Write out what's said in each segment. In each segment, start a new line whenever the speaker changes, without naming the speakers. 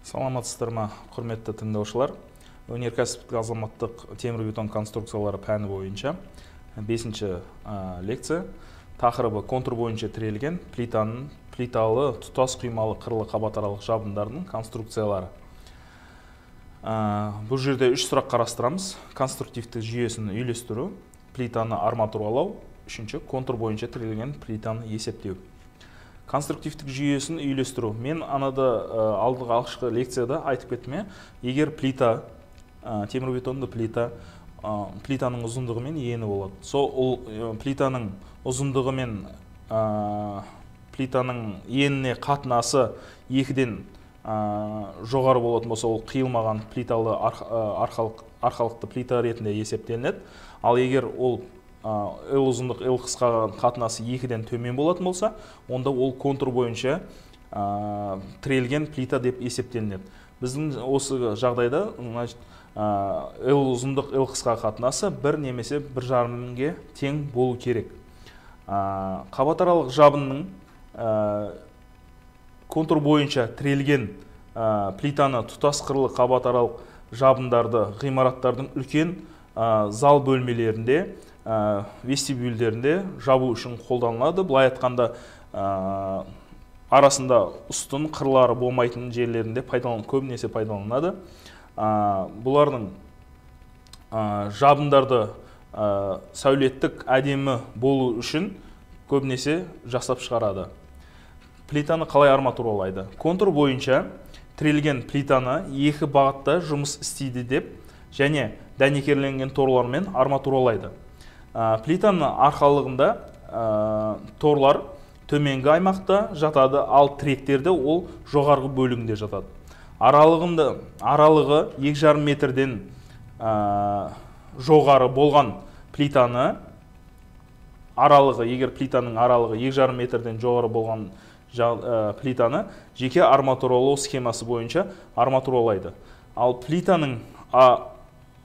Саламатсыздар ма, құрметті тыңдаушылар. Өнеркәсіптік азаматтық темірбетон конструкциялары пәні бойынша 5-ші лекция. Тақырыбы контур бойынша тірелген плиталы тұтас құймалы қырлы қабатаралық жабындардың конструкциялары. Бұл жерде 3 сұрақ қарастырамыз. Конструктивтік жүйесін үйлестіру, плитаны арматуралау, үшінші контур бойынша тірелген плитаны есептеу. Конструктивтік жүйесін үйлестіру. Мен анада алдығы алғашқы лекцияда айтып кеттім, егер плита, темірбетонды плитаның ұзындығы мен ені болады. Сол плитаның ұзындығы мен плитаның еніне қатынасы 2-ден жоғары болатын болса, ол қиылмаған плиталы арқалықты плита ретінде есептелінеді. Ал егер ол L ұзындық L қысқа қатынасы 2-ден төмен болатын болса, онда ол контур бойынша тірелген плита деп есептелінеді. Біздің осы жағдайда L ұзындық L қысқа қатынасы 1 немесе 1,5-ге тең болу керек. Қабатаралық жабынның контур бойынша тірелген плитаны тұтас қырлы қабатаралық жабындарды ғимараттардың үлкен зал бөлмелерінде, вестибюльдерінде жабу үшін қолданылады. Былай айтқанда арасында ұстын қырлары болмайтын жерлерінде көбінесе пайдаланады. Бұлардың жабындарды сәулеттік әдемі болу үшін көбінесе жасап шығарады. Плитаны қалай арматуралайды? Контур бойынша тірелген плитаны 2 бағытта жұмыс істейді деп және дәнекерленген торлармен арматуралайды. Плитаның арқалығында торлар төменгі аймақта жатады, ал тіректерді ол жоғарғы бөлігінде жатады. Аралығы 2,5 метрден жоғары болған плитаны, егер плитаның аралығы 2,5 метрден жоғары болған плитаны жеке арматуралау схемасы бойынша арматуралайды. Ал плитаның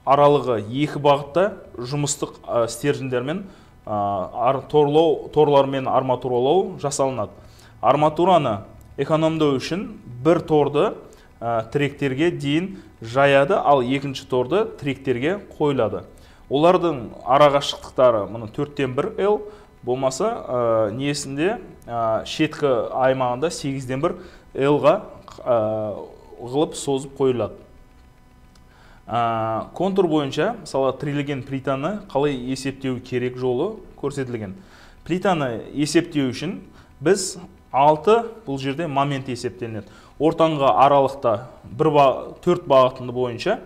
аралығы 2 бағытта жұмыстық стержендермен торлармен арматуралау жасалынады. Арматураны экономдау үшін бір торды тіректерге дейін жаяды, ал екінші торды тіректерге қойылады. Олардың арақашықтықтары 4-тен 1 L болмаса несінде шеткі аймағында 8-ден 1 L-ға ғылып созып қойылады. Контур бойынша, мысалы, тірелген плитаны қалай есептеу керек жолы көрсетілген. Плитаны есептеу үшін біз 6 бұл жерде момент есептелінеді. Ортаңғы аралықта 4 бағыты бойынша,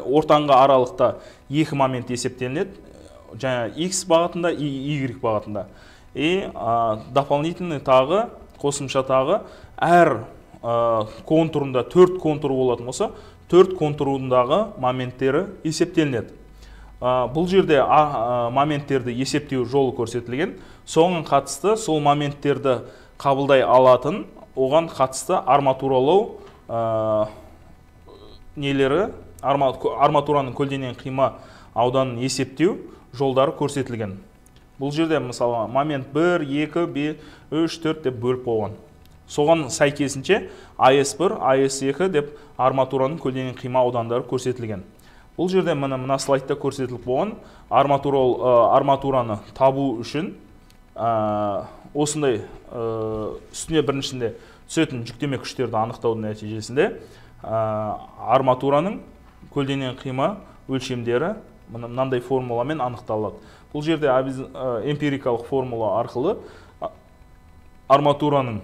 ортаңғы аралықта 2 момент есептелінеді. Жаңа X бағытында, Y бағытында. Дополнительный тағы, қосымша тағы, әр контурында 4 контур болатын болса, 4 контурындағы моменттері есептелінеді. Бұл жерде моменттерді есептеу жолы көрсетілген. Соған қатысты сол моменттерді қабылдай алатын, оған қатысты арматуралау арматураның көлденең қима ауданын есептеу жолдары көрсетілген. Бұл жерде мысалы момент 1, 2, 3, 4 деп бөліп қойған. Соған сәйкесінше AS1, AS2 деп арматураның көлденең қима аудандары көрсетілген. Бұл жерде мына слайдта көрсетіліп болған арматураны табу үшін осындай үстіне біріншінде түсетін жүктеме күштерді анықтаудың нәтижесінде арматураның көлденең қима өлшемдері мынандай формуламен анықталады. Бұл жерде эмпирикалық формула арқылы арматураның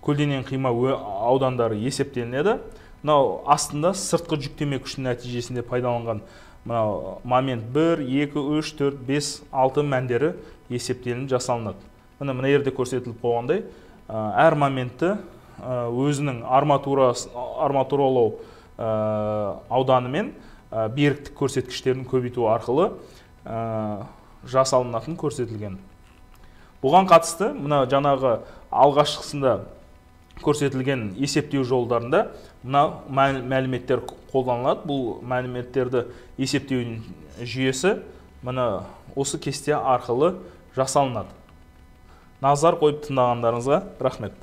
көлденең қима аудандары есептелінеді. Астында сыртқы жүктеме күшінің нәтижесінде пайдаланған момент 1, 2, 3, 4, 5, 6 мәндері есептелініп жасалынады. Мына жерде көрсетіліп қойғандай, әр моментті өзінің арматуралау ауданы мен беріктік көрсеткіштерін көбейту арқылы жасалынатын көрсетілген. Бұған қатысты, жаңағы алғашқысында көрсетілген есептеу жолдарында мәліметтер қолданылады. Бұл мәліметтерді есептеу жүйесі осы кесте арқылы жасалынады. Назар қойып тыңдағандарыңызға рахмет.